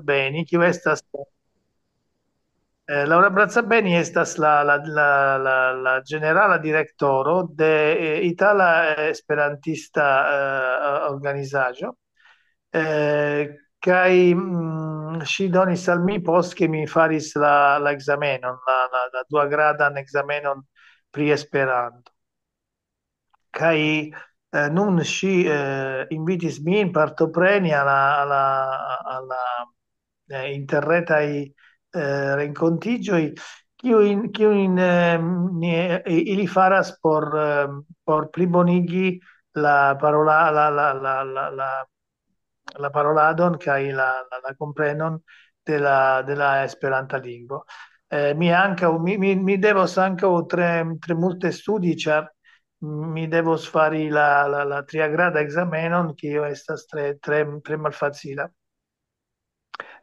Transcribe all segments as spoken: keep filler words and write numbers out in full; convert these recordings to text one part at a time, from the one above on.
Beni, kiu estas, eh, Laura Brazzabeni estas la, la, la, la, la ĝenerala direktoro de, eh, Itala Esperantista, eh, Organizaĵo. Eh, kaj, mm, ŝi donis al mi post ke mi faris la, la ekzamenon, la, la, la duagradan ekzamenon pri Esperanto. Kaj, eh, nun ŝi, eh, invitis min partopreni al la, al la, al la, eh, interretaj, eh, renkontiĝoj, kiujn, kiujn, eh, ni, ili faras por, eh, por plibonigi la parola-, la, la, la, la, la, la paroladon kaj la, la, la komprenon de la, de la Esperanta lingvo. Eh, mi ankaŭ, mi, mi, mi devos ankaŭ tre, tre multe studi, ĉar mi devos fari la, la, la triagrada ekzamenon, kio estas tre, tre, tre malfacila.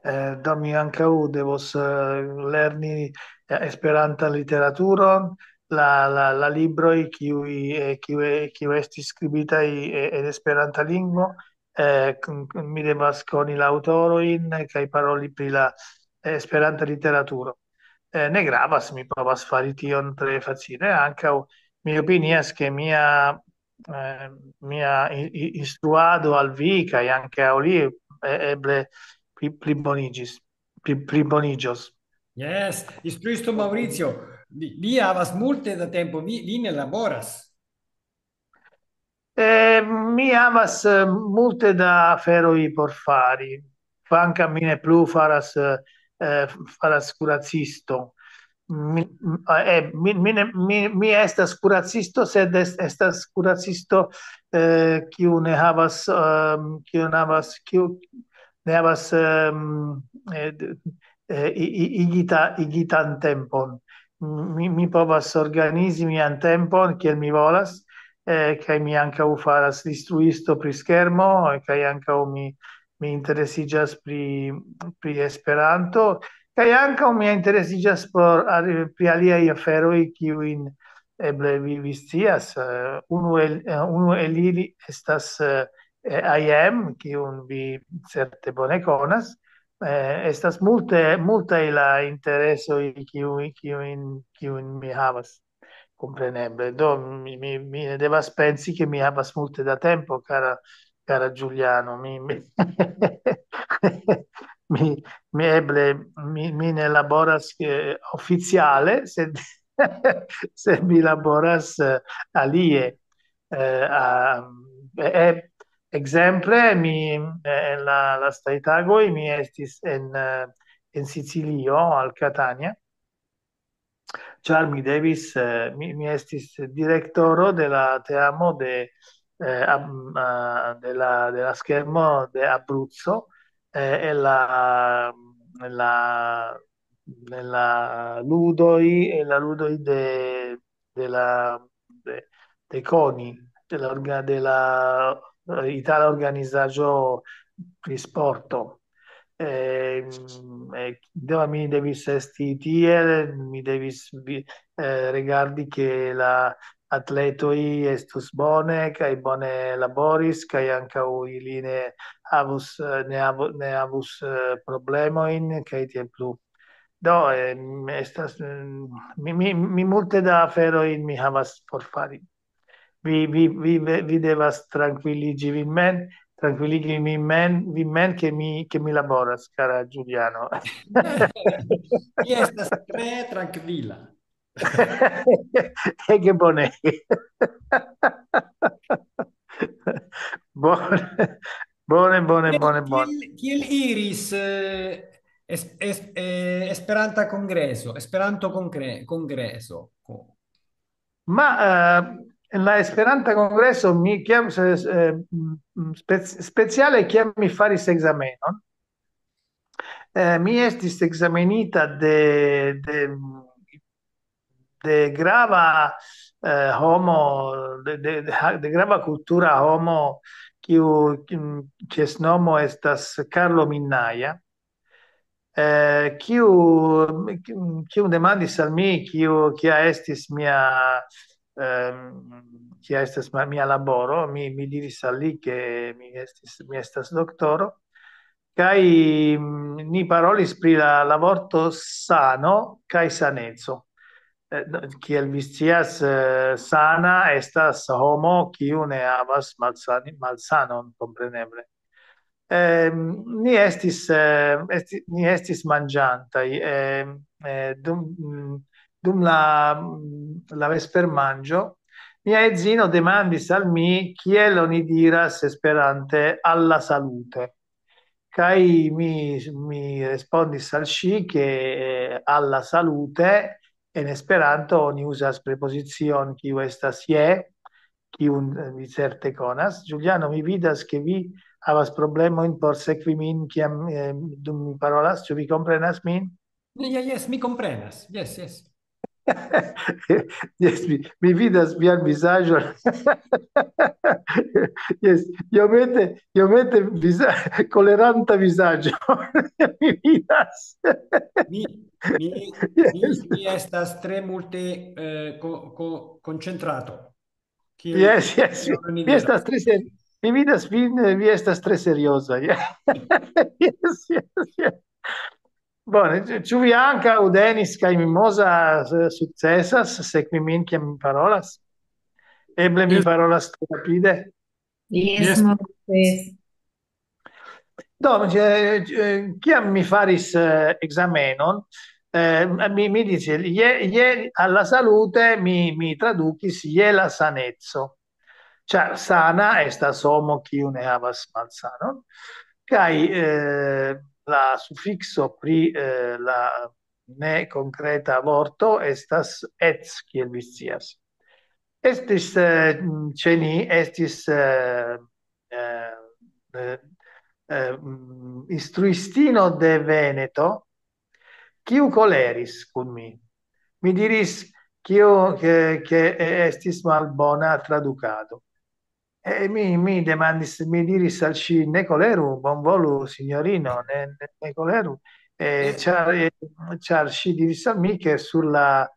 Eh, do mi ankaŭ devos, eh, lerni, eh, Esperantan literaturon, la, la, la libroj, kiuj, eh, kiuj, kiuj estis skribitaj, eh, en Esperanta lingvo. Eh, kun, kun, mi devas koni la aŭtorojn, eh, kaj paroli pri la, eh, Esperanta literaturo. Eh, ne gravas, mi povas fari tion tre facile. Ankaŭ mi opinias, ke mia, eh, mia i-, i-, instruado al vi kaj ankaŭ al li, eh, eble pli, pliboniĝis, pli, pliboniĝos. Yes, instruisto Maurizio, vi, vi havas multe da tempo, vi, vi ne laboras. Eh, mi havas, eh, multe da aferoj por fari, kvankam mi ne plu faras, eh, eh, faras kuracisto. Mi, eh, mi, mi, ne, mi, mi estas kuracisto, sed es-, estas kuracisto, eh, kiu ne havas, ehm, kiu ne havas, kiu ne havas, ehm, eh, d-, eh, i-, i-, igita-, igitan tempon. Mi, mi povas organizi mian tempon kiel mi volas, eh, kaj mi ankaŭ faras instruisto pri skermo, eh, kaj ankaŭ mi, mi interesiĝas pri, pri Esperanto, kaj ankaŭ mi interesiĝas por, pri aliaj aferoj, kiujn eble vi, vi scias. Eh, unu el, eh, unu el ili estas, eh, eh, I M, kiun vi certe bone konas. Eh, estas multe, multaj la interesoj, kiuj, kiujn, kiujn mi havas, kompreneble. Do, mi, mi, mi ne devas pensi, ke mi havas multe da tempo, kara, kara Giuliano. Mi, mi, mi, mi eble, mi, mi ne laboras, eh, oficiale, sed, sed mi laboras, eh, alie. Eh, a, eh, eh, ekzemple, mi, eh, en la lastaj tagoj mi estis en, eh, en Sicilio, al Catania, ĉar mi devis, eh, mi, mi estis direktoro de la teamo de, eh, ab-, ah, de la, de la schermo de Abruzzo, eh, en la, en la, en la ludoj, en la ludoj de, de la, de, de CONI, de la orga-, de la, eh, itala organizaĵo pri sporto. Eh, eh, do mi devis esti tie, mi devis vi-, eh, rigardi, ke la atletoj estus bone kaj bone laboris, kaj ankaŭ ili ne havus, eh, ne havu-, ne havus, eh, problemojn, kaj tiel plu. Do, eh, estas, mm, mi, mi, mi multe da aferoj mi havas por fari. Vi, vi, vi, vi devas trankviliĝi vin mem, trankviligi min mem, vin mem, ke mi, ke mi laboras, kara Giuliano. Mi estas tre trankvila. Ege bone. Bone. Bone, bone, bone, bone. Kiel, kiel iris, eh, es-, es-, eh, Esperanta Kongreso, Esperanto Kongre-, Kongreso? Ma, eh, en la Esperanta Kongreso, mi, kiam se, eh, mm, spec-, speciale kiam mi faris ekzamenon, eh, mi estis ekzamenita de, de, de grava, eh, homo, de, de, de ha-, de grava kultura homo, kiu, kiu, kies nomo estas Carlo Minnaia, eh, kiu, kiu demandis al mi, kiu, kia estis mia, ehm, kia estas ma-, mia laboro. Mi, mi diris al li, ke mi estis, mi estas doktoro. Kaj, mm, ni parolis pri la, la vorto sano kaj saneco. Eh, no, kiel vi scias, eh, sana estas homo, kiu ne havas malsani-, malsanon, kompreneble. Ehm, ni estis, eh, esti-, ni estis manĝantaj, ehm, eh, dum, mm, dum la, mm, la vespermanĝo, mia edzino demandis al mi, kiel oni diras Esperante "alla salute". Kaj mi, mi respondis al ŝi, ke, eh, "alla salute" en Esperanto oni uzas prepozicion, kiu estas "je", kiun, eh, vi certe konas. Juliano, mi vidas, ke vi havas problemojn por sekvi min, kiam, eh, dum mi parolas. Ĉu vi komprenas min? Ja, jes, mi komprenas. Jes, jes. Jes, mi, mi vidas vian vizaĝon. Jes, iomete, iomete viza-, koleranta vizaĝo. Mi vidas. Mi, mi, mi, mi estas tre multe, eh, ko-, ko-, koncentrato. Kiel Jes, jes, kiel oni vi diras. Estas tre ser-, mi vidas vin, eh, vi estas tre serioza. Ja. Jes, jes, jes. Bone, ĉu, ĉu vi ankaŭ, Denis kaj Mimoza, eh, sukcesas sekvi min, kiam mi parolas? Eble mi Jes. Parolas tro rapide. Jes, Jes. Morris. Do, eh, eh, kiam mi faris, eh, ekzamenon, eh, mi, mi diris, "Je, je alla salute", mi, mi tradukis "je la saneco". Ĉar sana estas homo, kiu ne havas malsanon. Kaj, eh, la sufikso pri, eh, la ne konkreta vorto estas "ec", kiel vi scias. Estis, eh, ĉe ni, estis, eh, eh, eh, eh, mm, instruistino de Veneto, kiu koleris kun mi. Mi diris, kio, ke, ke estis malbona tradukado. E mi, mi demandis, mi diris al ŝi, "Ne koleru, bonvolu, sinjorino, ne, ne, ne koleru." Eh, Eh. Ĉar, eh, ĉar ŝi diris al mi, ke sur la,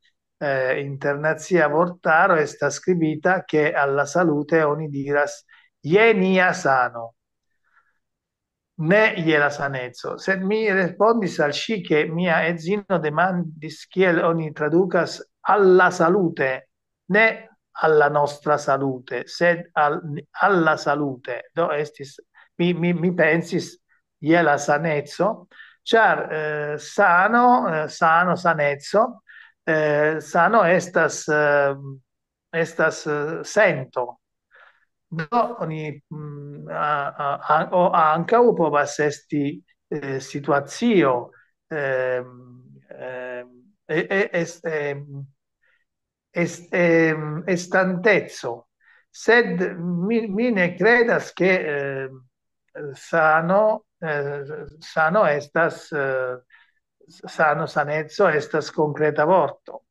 eh, internacia vortaro estas skribita, ke "alla salute" oni diras "je nia sano", ne "je la saneco". Sed mi respondis al ŝi, ke mia edzino demandis, kiel oni tradukas "alla salute", ne "alla nostra salute", sed "al-, alla salute". Do estis, mi, mi, mi pensis "je la saneco", ĉar, eh, sano, eh, sano, saneco, eh, sano estas, eh, estas, eh, sento. Do oni, mm, a, a, a, o ankaŭ povas esti, eh, situacio, ehm, ehm, e, e, es-, ehm, est-, ehm, estanteco. Sed mi, mi ne kredas, ke, ehm, sano, eh, sano estas, eh, sano, saneco estas konkreta vorto.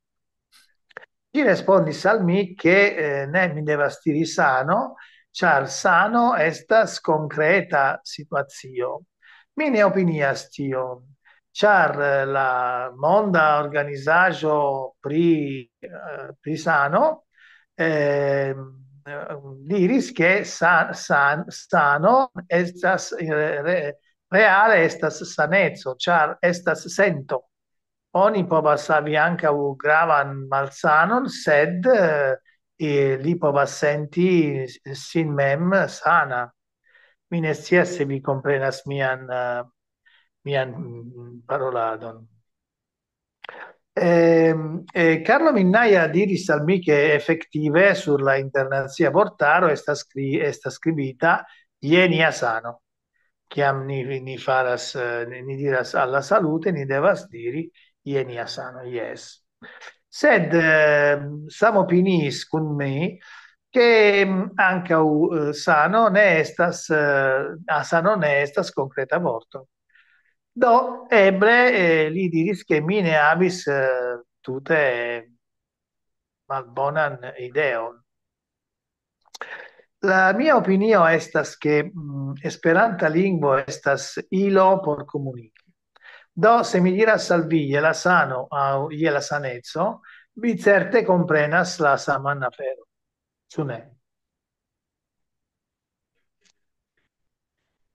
Ŝi respondis al mi, ke, eh, ne, mi devas diri sano, ĉar sano estas konkreta situacio. Mi ne opinias tion, ĉar, eh, la monda organizaĵo pri, eh, pri sano, eh, diris, ke sa-, san-, sano estas, eh, re-, reale estas saneco, ĉar estas sento. Oni povas havi ankaŭ gravan malsanon, sed, eh, eh, li povas senti sin mem sana. Mi ne scias se vi komprenas mian, eh, mian, mm, paroladon. Ehm, eh, Carlo Minnaia diris al mi, ke efektive sur la internacia vortaro estas skri-, estas skribita "je nia sano". Kiam ni, ni faras, eh, ni, ni diras "alla salute", ni devas diri "je nia sano", jes. Sed, eh, samopiniis kun mi, ke, mm, ankaŭ, eh, sano ne estas, eh, a sano ne estas konkreta vorto. Do, eble, eh, li diris, ke mi ne havis, eh, tute malbonan ideon. La mia opinio estas, ke, mm, Esperanta lingvo estas ilo por komuniki. Do, se mi diras al vi "je la sano" aŭ "je la saneco", vi certe komprenas la saman aferon. Ĉu ne?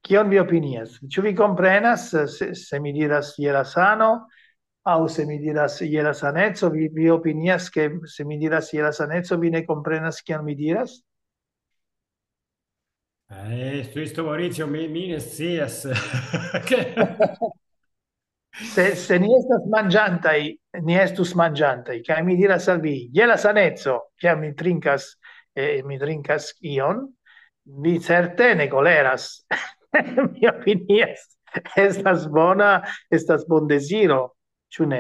Kion vi opinias? Ĉu vi komprenas, se, se mi diras je la sano, aŭ se mi diras je la saneco, vi, vi opinias, ke se mi diras je la saneco, vi ne komprenas, kion mi diras? Eh, Instruisto Maurizio, mi, mi ne scias. Ke- Se, se ni estas manĝantaj, ni estus manĝantaj, kaj mi diras al vi, je la saneco, kiam mi trinkas, eh, mi trinkas ion, vi certe ne koleras. Mi opinias, estas bona, estas bondeziro, ĉu ne?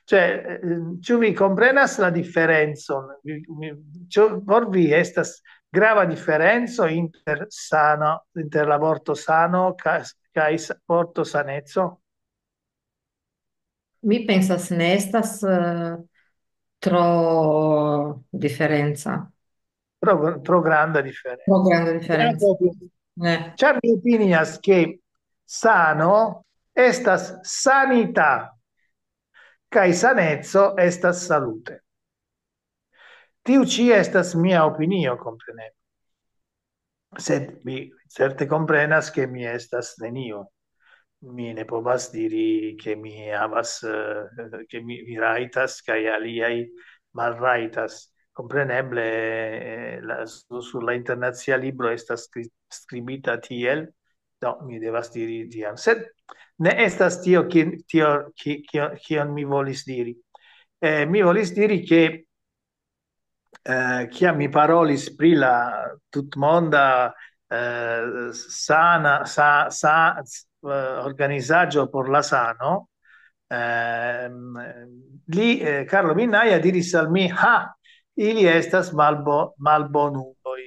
Cioè, eh, ĉu vi komprenas la diferencon? Vi, vi, ĉu por vi estas grava diferenco inter sano, inter la vorto sano ka-, kaj s-, vorto saneco? Mi pensas, ne estas, eh, tro diferenca. Tro, tro granda diferenco. Tro granda diferenco. Ne. Ĉar mi opinias, ke sano estas sanita, kaj saneco estas salute. Tiu ĉi estas mia opinio, kompreneble. Sed vi certe komprenas, ke mi estas nenio. Mi ne povas diri, ke mi havas, eh, ke mi, mi rajtas, kaj aliaj malrajtas. Kompreneble, eh, la, su-, sur la internacia libro estas skri-, skribita tiel, do mi devas diri tion. Sed ne estas tio, ki-, tio, ki-, kio-, kion mi volis diri. Eh, mi volis diri, ke, eh, kiam mi parolis pri la tutmonda, eh, sana, sa-, sa-, eh, organizaĵo por la sano, ehm, li, eh, Carlo Minnaia diris al mi: "Ha, ili estas malbo-, malbonuloj."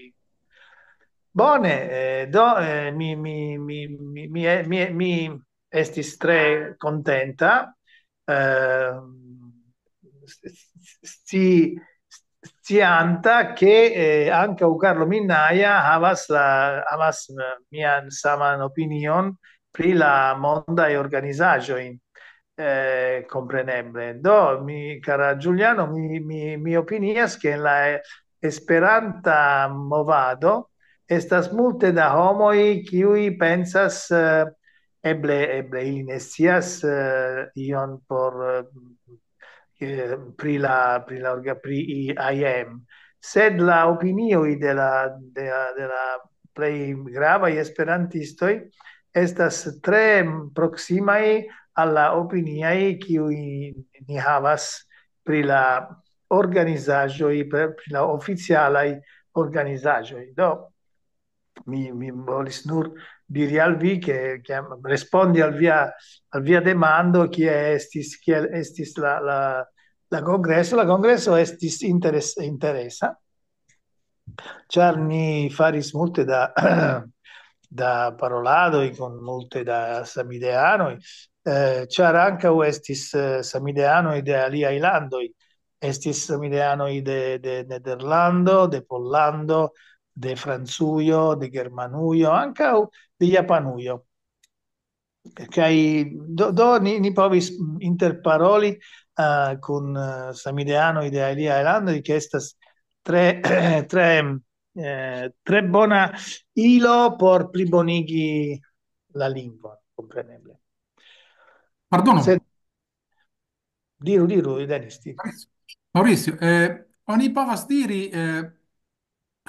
Bone, eh, do, eh, mi, mi, mi, mi, mi, eh, mi, mi estis tre kontenta, eh, sci-, scianta, ke, eh, ankaŭ Carlo Minnaia havas la, havas, eh, mian saman opinion pri la mondaj organizaĵoj, eh, kompreneble. Do, mi, kara Giuliano, mi, mi, mi opinias, ke en la Esperanta movado estas multe da homoj, kiuj pensas, eh, eble, eble ili ne scias, eh, ion por, eh, eh, pri la, pri la orga-, pri I M, sed la opinioj de la, de la, de la plej gravaj esperantistoj estas tre proksimaj al la opiniaj, kiuj ni havas pri la organizaĵoj, pri, pri la oficialaj organizaĵoj. Do, mi, mi volis nur diri al vi, ke, ke respondi al via, al via demando, kie estis, kiel estis la, la, la kongreso. La kongreso estis interes-, interesa, ĉar ni faris multe da, da paroladoj kun multe da samideanoj, eh, ĉar ankaŭ estis, eh, samideanoj de aliaj landoj. Estis samideanoj de, de Nederlando, de Pollando, de Francujo, de Germanujo, ankaŭ de Japanujo. Kaj do, do ni, ni povis interparoli, eh, kun, eh, samideanoj de aliaj landoj, ke estas tre, tre, eh, tre bona ilo por plibonigi la lingvon, kompreneble. Pardono. Sed diru, diru, Denis, diru. Maurizio, eh, oni povas diri, eh,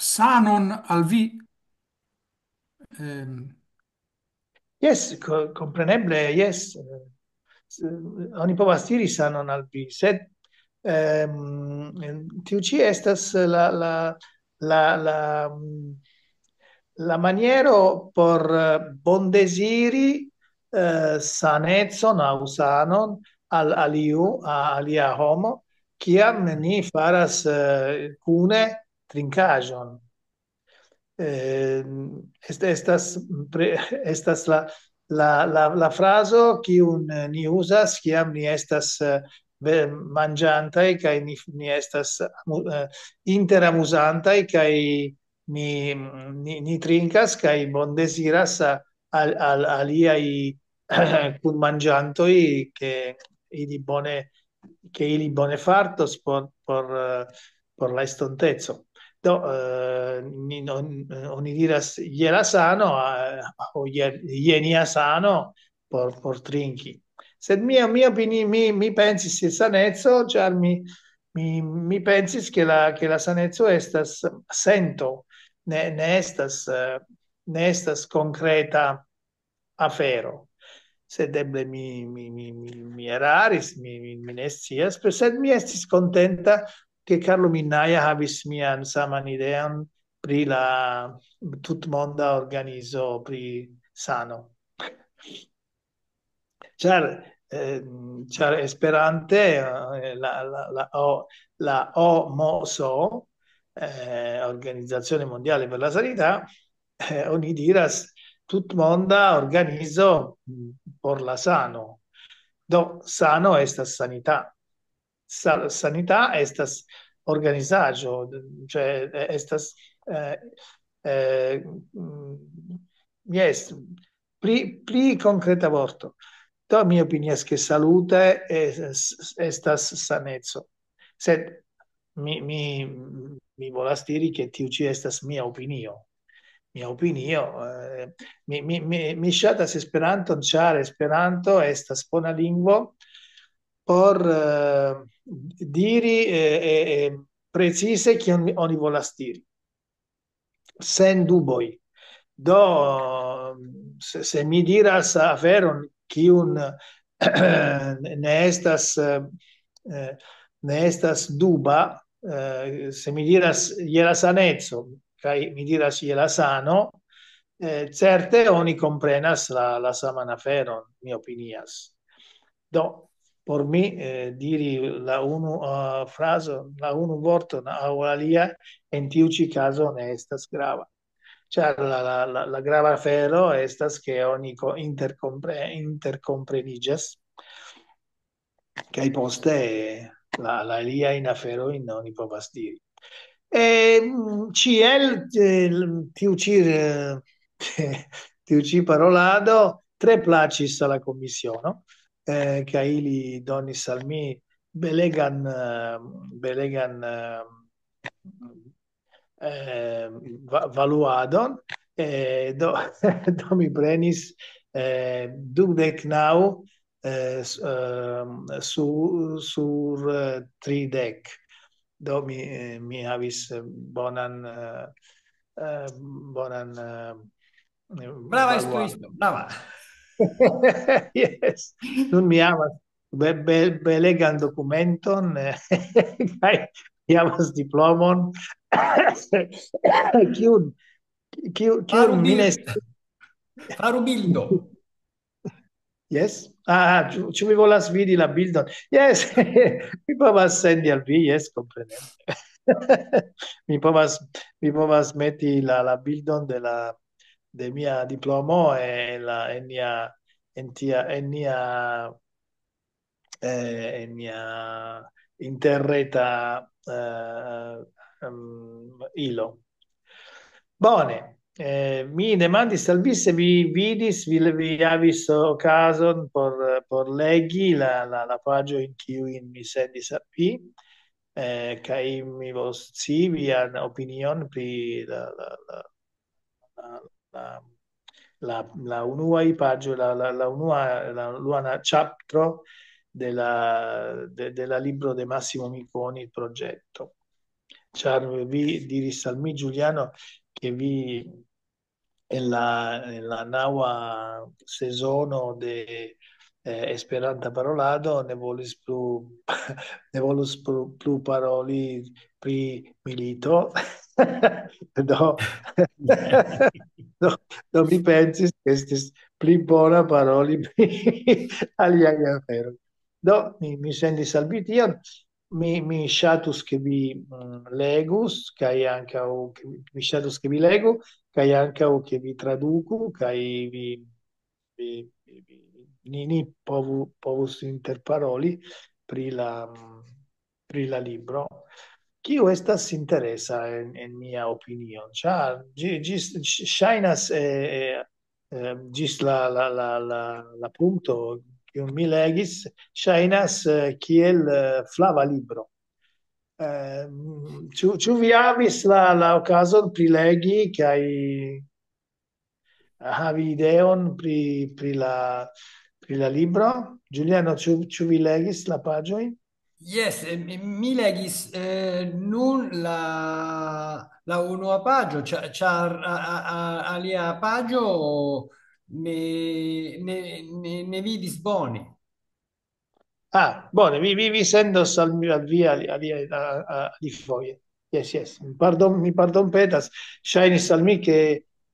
sanon al vi? Ehm, Jes, ko-, kompreneble, jes. Eh, s-, oni povas diri sanon al vi, sed, ehm, tiu ĉi estas la, la, la, la, mm, la maniero por, eh, bondeziri, eh, sanecon aŭ sanon al aliu, a alia homo, kiam ni faras, eh, kune trinkaĵon. Eh, est-, estas pre-, estas la, la, la, la frazo, kiun, eh, ni uzas, kiam ni estas, eh, ve-, manĝantaj, kaj ni, ni estas amu-, eh, interamuzantaj, kaj ni, ni, ni trinkas kaj bondeziras a-, al, al aliaj kunmanĝantoj, ke ili bone, ke ili bone fartos por, por, eh, por la estonteco. Do, eh, ni, non, oni diras je la sano, eh, o je, je nia sano por, por trinki. Sed mia, mia opini-, mi, mi pensis je saneco, ĉar mi, mi, mi pensis, ke la, ke la saneco estas sento, ne, ne estas, eh, ne estas konkreta afero. Sed eble mi, mi, mi, mi, mi eraris, mi, mi, mi ne scias, pe-, sed mi estis kontenta, ke Carlo Minnaia havis mian saman ideon pri la tutmonda organizo pri sano. Ĉar, eh, ĉar Esperante, eh, la, la, la O, la O M S O, eh, Organizzazione Mondiale per la Sanità, eh, oni diras tutmonda organizo, mm, por la sano. Do, sano estas sanità. Sa-, sanità estas organizaĵo, cioè, eh, estas, eh, eh, mm, yes, pli, pli konkreta vorto. Do, mi opinias, ke salute es-, estas saneco. Sed mi, mi, mi volas diri, ke tiu ĉi estas mia opinio. Mia opinio, eh, mi, mi, mi, mi ŝatas Esperanton, ĉar Esperanto estas bona lingvo por, eh, diri, eh, eh, eh, precize kion mi, oni volas diri. Sen duboj. Do, se, se mi diras aferon, kiun ne estas, eh, ne estas duba, eh, se mi diras je la saneco, kaj mi diras je la sano, eh, certe oni komprenas la, la saman aferon, mi opinias. Do, por mi, eh, diri la unu, eh, frazo, la unu vorton aŭ alia, en tiu ĉi kazo ne estas grava. Ĉar la, la, la, la grava afero estas, ke oni ko-, interkompre-, interkompreniĝas, kaj poste la, la aliajn aferojn oni povas diri. E, mm, ĉiel, eh, tiu ĉi, eh, tiu ĉi parolado tre plaĉis al la komisiono, eh, kaj ili donis al mi belegan, eh, belegan, eh, eh, va-, valuadon, eh, do, do mi prenis, eh, dudek naŭ, eh, s-, ehm, su-, sur, eh, tridek. Do mi, eh, mi havis, eh, bonan, eh, eh, bonan, eh, Brava valuadon. Instruisto, brava. Yes. Nun mi havas be-, be-, belegan dokumenton, eh, kaj mi havas diplomon. Kiun, kiu, Faru kiun mi ne bil-, faru bildo. Yes. Ah, ah, ĉu, ĉu vi volas vidi la bildon? Yes. Mi povas sendi al vi, yes, kompreneble. Mi povas, mi povas meti la, la bildon de la, de mia diplomo en la, en nia, en tia, en nia, eh, en nia interreta, eh, em, ilo. Bone, eh, mi demandis al vi se vi vidis, vi, vi havis okazon por, por legi la, la, la paĝojn, kiujn mi sendis al vi, eh, kaj mi volas scii vian opinion pri la, la, la, la, la, la, la unuaj paĝoj, la, la, la unua, la unua ĉaptro de la, de, de la libro de Massimo Miconi, il progetto. Ĉar vi diris al mi, Giuliano, ke vi en la, en la naŭa sezono de, eh, Esperanta Parolado ne volis plu, ne volus plu, plu paroli pri milito. Do, do, do mi pensis, ke estis pli bona paroli pri aliaj aferoj. Do, mi, mi sendis al vi tion. Mi, mi ŝatus, ke vi, mm, legus, kaj ankaŭ, ke vi, mi ŝatus, ke vi legu, kaj ankaŭ, ke vi traduku, kaj vi, vi, vi, vi, ni, ni povu, povus interparoli pri la, mm, pri la libro, kiu estas interesa en, en mia opinio, ĉar ĝi, ĝi s-, ŝ-, ŝajnas, eh, eh, eh, ĝis la, la, la, la, la punkto, kiun mi legis, ŝajnas, eh, kiel, eh, flava libro. Eh, ĉu, ĉu vi havis la, la okazon prilegi kaj havi ideon pri, pri la, pri la libro? Giuliano, ĉu, ĉu vi legis la paĝojn? Jes, eh, mi, mi legis, eh, nun la, la unua paĝo, ĉa-, ĉar a, a, a, alia paĝo ne, ne, ne, ne vidis bone. Ah, bone, vi, vi, vi sendos al mi, al vi, al, al, al, a, a, alifoje. Yes, yes. Pardon, mi pardon petas. Ŝajnis al mi, ke,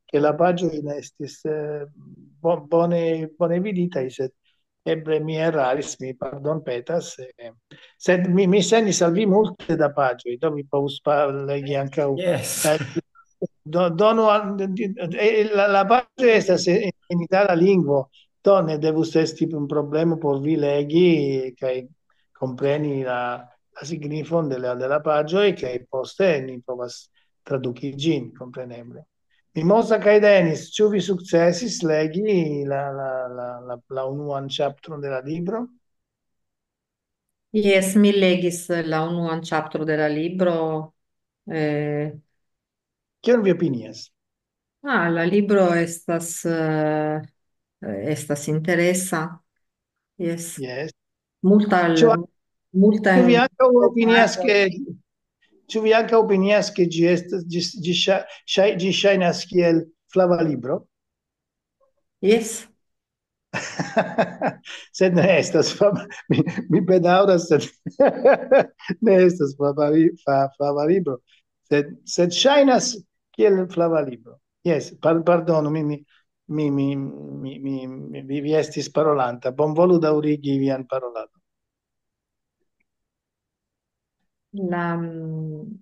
ke la paĝoj ne estis, eh, bo-, bone, bone viditaj, sed eble mi eraris, mi pardon petas. Eh, sed mi, mi sendis al vi multe da paĝoj, do vi povus pa-, legi ankaŭ. Yes. Eh, do-, donu al, eh, la, la paĝo estas en, en itala lingvo, do ne devus esti un problemo por vi legi kaj kompreni la, la signifon de la, de la paĝoj, kaj poste ni povas traduki ĝin, kompreneble. Mimosa kaj Denis, ĉu vi sukcesis legi la, la, la, la, la unuan ĉaptron de la libro? Jes, mi legis la unuan ĉaptro de la libro. Eh, Kion vi opinias? Ah, la libro estas, eh, estas interesa. Jes. Yes. Multa, Ĉu, multa ĉu vi ankaŭ opinias, ke, ĉu vi ankaŭ opinias, ke ĝi estas, ĝi, ĝi ŝa-, ŝaj-, ĝi ŝajnas kiel flava libro? Jes. Sed ne estas flava, mi, mi bedaŭras, sed ne estas flava li-, fa-, flava libro. Sed, sed ŝajnas kiel flava libro. Jes, par-, pardonu, mi, mi, mi, mi, mi, mi, mi, vi, vi estis parolanta. Bonvolu daŭrigi vian paroladon. La, mm,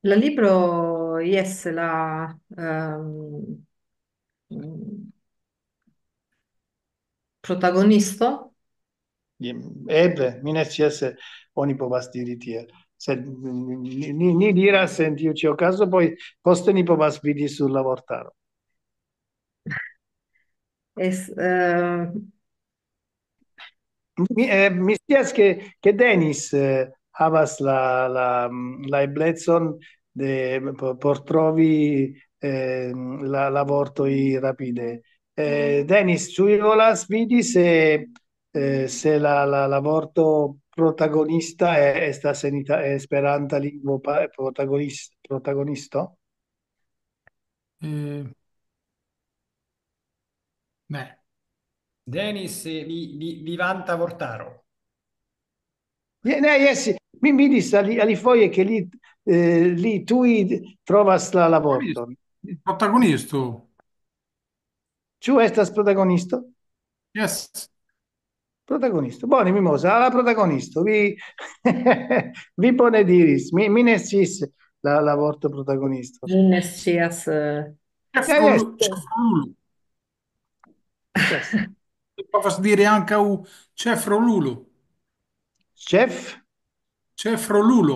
la libro, jes, la, ehm, mm, protagonisto. Eble, mi ne scias se oni povas diri tiel. Sed ni, ni, ni diras en tiu ĉi okazo, poi poste ni povas vidi sur la vortaro. Es, eh, Mi, eh, mi scias, ke, ke Denis, eh, havas la, la, mm, la eblecon de, por, por trovi, eh, la, la vortoj rapide. Eh, Denis, ĉu vi volas vidi se, eh, se la, la, la vorto protagonista, eh, estas en ita-, esperanta lingvo pa-, protagonis-, protagonisto? Eh, ne. Denis, eh, vi-, vi-, vivanta vortaro. Ye-, ne, jes, mi vidis ali-, alifoje, ke li, eh, li tuj trovas la, la vorton. Protagonisto. Protagonisto. Ĉu estas protagonisto? Jes. Protagonisto. Bone, Mimosa, la protagonisto. Vi, vi bone diris. Mi, mi ne sciis la, la vorto protagonisto. Mi ne scias, eh. Ĉefrolu-, jes, ĉefrolulo. Jes. Mi povas diri ankaŭ ĉefrolulo. Ĉef? Ĉefrolulo.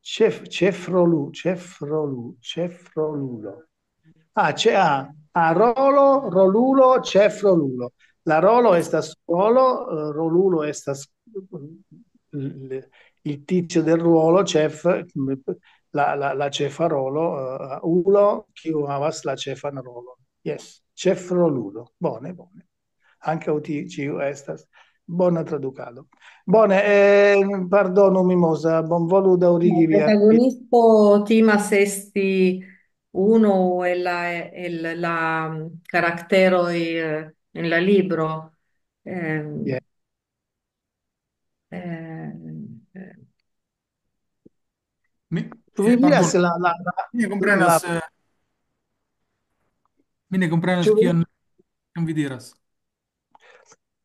Ĉef-, ĉefrolu-, ĉefrolu-, ĉefrolulo. Ah, ĉe-, ah, ah, rolo, rolulo, ĉefrolulo. La rolo estas rolo, eh, rolulo estas, mm, il, il tizio del ruolo, ĉef, la, la, la ĉefa rolo, eh, ulo, kiu havas la ĉefan rolon. Jes, ĉefrolulo. Bone, bone. Ankaŭ ti-, ĉiu estas. Bona tradukado. Bone, eh, pardonu, Mimosa, bonvolu daŭrigi vian. La protagonisto timas esti unu el la, el la, mm, karakteroj, eh, en la libro. Ehm, Yes. eh, eh. Mi, Ĉu vi eh, vidas pardon. La, la, la, Mi ne komprenas, la eh, mi ne komprenas, ĉu vi kion, kion vi diras.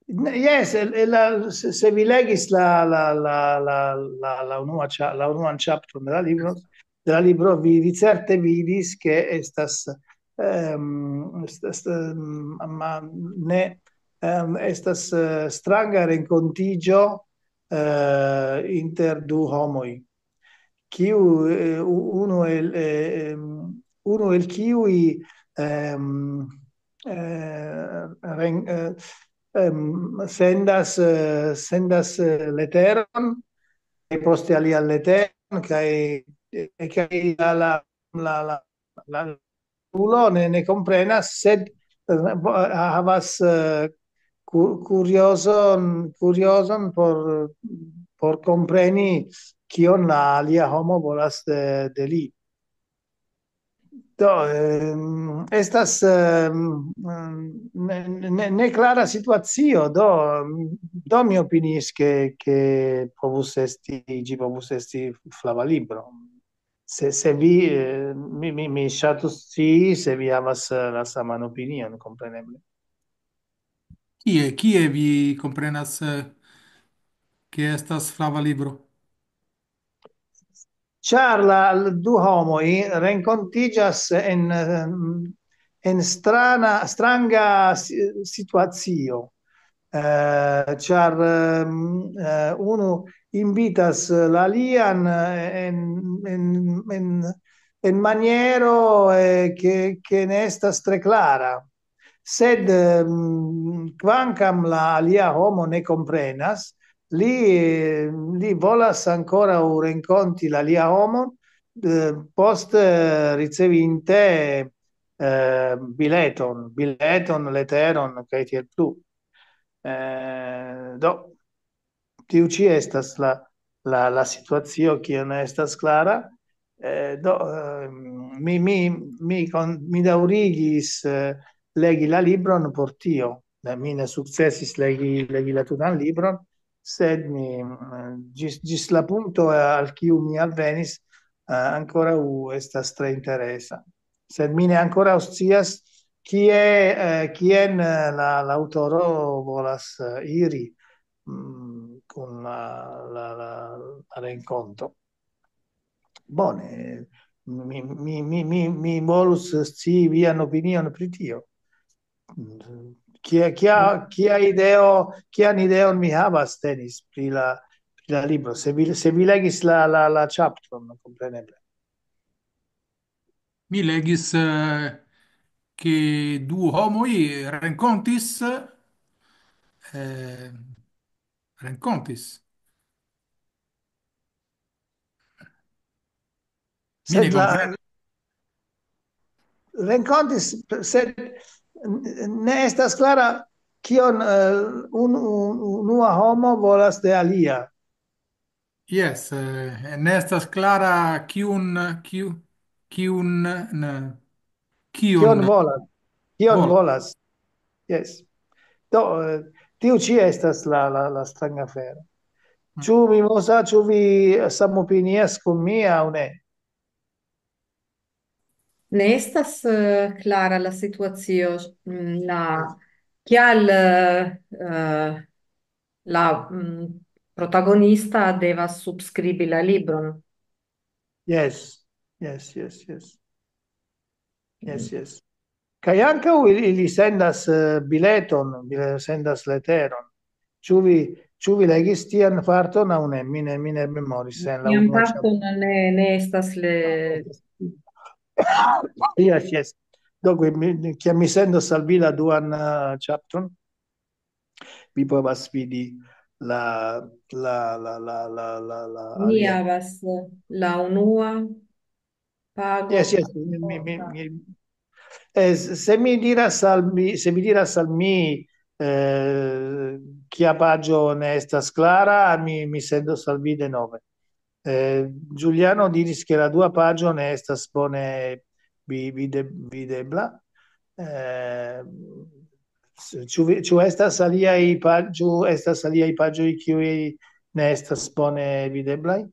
Ne, jes, el, el la, se, se vi legis la, la, la, la, la, la unua ĉa-, la unuan ĉaptron de la libro, de la libro, vi, vi certe vidis, ke estas, ehm, est-, est-, ehm, ma ne, ehm, estas, eh, stranga renkontiĝo, eh, inter du homoj. Kiu, eh, u-, unu el, eh, ehm, unu el kiuj, ehm, eh, ren-, eh, em, sendas, eh, sendas, eh, leteron, kaj poste alian leteron, kaj, eh, kaj la, la, la, la, la ulo ne, ne komprenas, sed, eh, bo-, havas, eh, ku-, kuriozon, kuriozon por, por kompreni, kion la alia homo volas de, de li. Do, ehm, estas, ehm, ne, ne, ne klara situacio, do, do mi opiniis, ke, ke povus esti, ĝi povus esti flava libro. Se, se vi, eh, mi, mi, mi ŝatus scii, se vi havas, eh, la saman opinion, kompreneble. Kie, kie vi komprenas, eh, ke estas flava libro? Ĉar la, la du homoj renkontiĝas en, ehm, en strana, stranga si-, situacio. Eh, ĉar, ehm, eh, unu invitas la alian, eh, en, en, en, en maniero, eh, ke, ke ne estas tre klara. Sed, ehm, kvankam la alia homo ne komprenas, li, li volas ankoraŭ renkonti la alia homon, eh, post, eh, ricevinte, eh, bileton, bileton, leteron, kaj tiel plu. Eh, do, tiu ĉi estas la, la, la situacio, kiu ne estas klara. Eh, do, ehm, mi, mi, mi kon-, mi daŭrigis, eh, legi la libron por tio. Ne, mi ne sukcesis legi, legi la tutan libron, sed mi, mm, ĝis, ĝis la punkto, eh, al kiu mi alvenis, eh, ankoraŭ estas tre interesa. Sed mi ne ankoraŭ scias, kie, eh, kien, eh, la, la aŭtoro volas, eh, iri, mm, kun la, la, la, la renkonto. Bone, mi, mi, mi, mi, mi volus scii vian opinion pri tio. Kia, kia, kia ideo, kian ideon mi havas tenis pri la, pri la libro? Se vi, se vi legis la, la, la ĉaptron, kompreneble. Mi legis, eh, ke du homoj renkontis, eh, renkontis. Mi ne Sed la komprenas. Renkontis, sed n-, ne estas klara kion, eh, un-, un-, unua homo volas de alia. Jes, eh, ne estas klara kiun, kiu-, kiun, ne, kion Kion volas? Kion volas? Volas? Jes. Do, eh, tiu ĉi estas la, la, la stranga afero. Mm. Ĉu Mimosa, ĉu vi samopinias kun mi aŭ ne? Ne estas, eh, klara la situacio, mm, la, kial, eh, eh, la, mm, protagonista devas subskribi la libron. Yes, yes, yes, yes. Yes, yes. Kaj ankaŭ ili, ili sendas, eh, bileton, ili sendas leteron. Ĉu vi, ĉu vi legis tian parton aŭ ne? Mi ne, mi ne memoris en la Tian unua parton ne, ne estas le- Yes, yes. Dunque, mi, kiam mi sendos al vi la duan, eh, ĉaptron, vi povas vidi la, la, la, la, la, la, la Mi alia. Havas la unua pago. Yes, yes, mi, mi, mi, mi, eh, s-, se mi diras al mi, se vi diras al mi, eh, kia paĝo ne estas klara, mi, mi sendos al vi denove. Eh, Giuliano diris, ke la dua paĝo ne estas bone vi-, vide-, videbla. Eh, s-, ĉu vi, ĉu estas aliaj pa-, ĉu estas aliaj paĝoj, kiuj ne estas bone videblaj?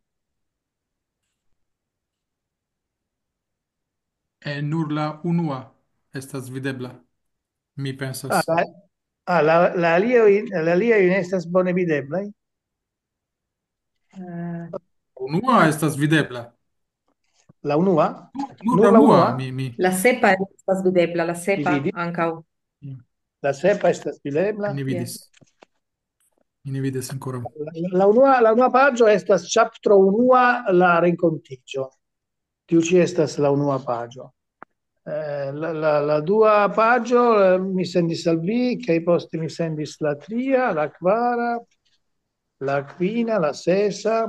Eh, nur la unua estas videbla, mi pensas. Ah, la, ah, la, la aliaj, la aliaj ne estas bone videblaj? Eh. Unua estas videbla. La unua? Nur Nur la la unua, unua? Mi, mi. La sepa estas videbla, la sepa Vi vidi? Ankaŭ. Mm. La sepa estas videbla? Mi ne vidis. Yes. Mi ne vidis ankoraŭ. La, la unua, la unua paĝo estas ĉaptro unua, la renkontiĝo. Tiu ĉi estas la unua paĝo. Eh, la, la, la dua paĝo, eh, mi sendis al vi, kaj poste mi sendis la tria, la kvara, la kvina, la sesa,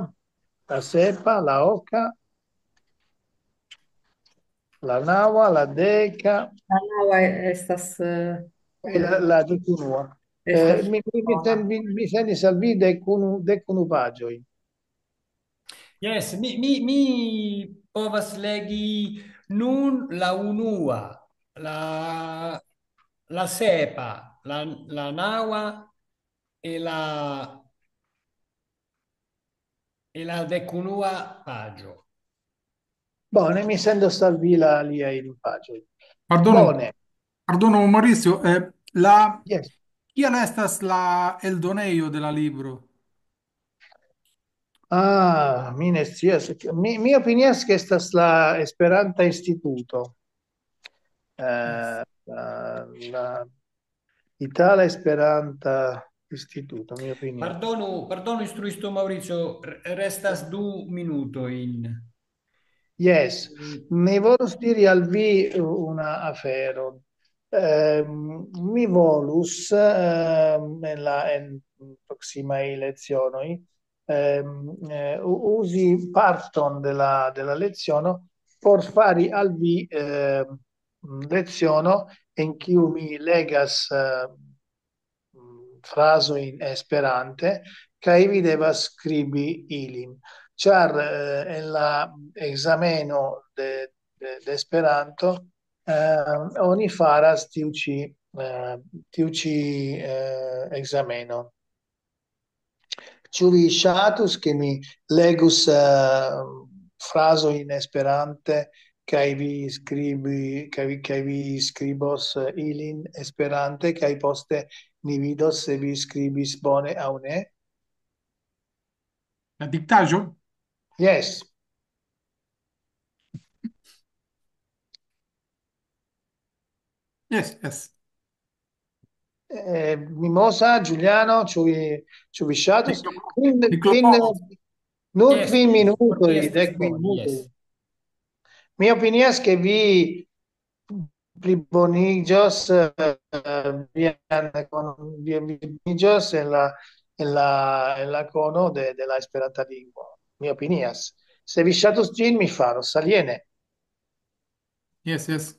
la sepa, la oka, la naŭa, la deka, La naŭa estas, eh, kaj la, la dekunua. Eh, estas mi, mi, mi sen-, mi, mi sendis al vi dekunu, dekunu paĝoj. Yes, mi, mi, mi povas legi nun la unua, la, la sepa, la, la naŭa e la, e la dekunua paĝo. Bone, mi sendos al vi la aliajn paĝojn. Pardonu, Bone, pardonu, Maurizio, eh, la, yes. Kial estas la eldonejo de la libro? Ah, mi ne scias. Mi, mi opinias, ke estas la Esperanta Instituto. Eh, la, la Itala Esperanta Instituto, mi opinias. Pardonu, pardonu, instruisto Maurizio, re-, restas du minutojn. Yes, mi volus diri al vi una afero. Ehm, mi volus, ehm, en la, en proksimaj lecionoj, ehm, eh, u-, uzi parton de la, de la leciono por fari al vi, ehm, leciono en kiu mi legas, ehm, frazojn Esperante, kaj vi devas skribi ilin. Ĉar, eh, en la ekzameno de, de, de Esperanto, eh, oni faras tiu ĉi, eh, tiu ĉi, eh, ekzameno. Ĉu vi ŝatus, ke mi legus, eh, frazojn Esperante, kaj vi skribi, kaj vi, kaj vi skribos, eh, ilin Esperante, kaj poste ni vidos se vi skribis bone aŭ ne? La diktaĵo? Yes. Yes, yes. Eh, Mimosa, Giuliano, ĉu vi, ĉu vi ŝatus? Kvin, Mi kvin, klopodos. nur Yes, kvin yes, minutoj, yes, dek yes. minutoj. Mi opinias, ke vi pliboniĝos, eh, vian konon, vi, vi pliboniĝos en la, en la, en la kono de, de la Esperanta lingvo. Mi opinias. Se vi ŝatus ĝin, mi faros. Aliene. Yes, yes.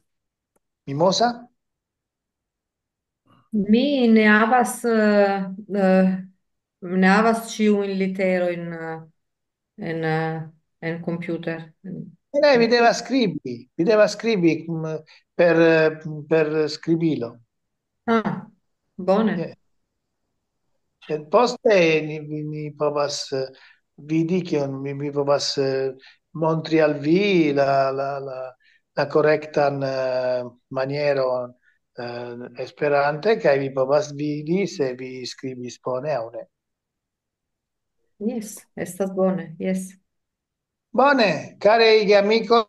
Mimosa? Mi ne havas, eh, eh, ne havas ĉiujn literojn, eh, en, eh, en computer. Ne, vi devas skribi, vi devas skribi, mm, per, eh, per skribilo. Ah, bone. Yes. Sed poste ni, ni, ni povas, eh, vidi, kion mi, mi povas, eh, montri al vi la, la, la, la korektan, eh, manieron, eh, Esperante, kaj vi povas vidi se vi skribis bone aŭ ne. Yes, estas bone, yes. Bone, karaj geamikoj,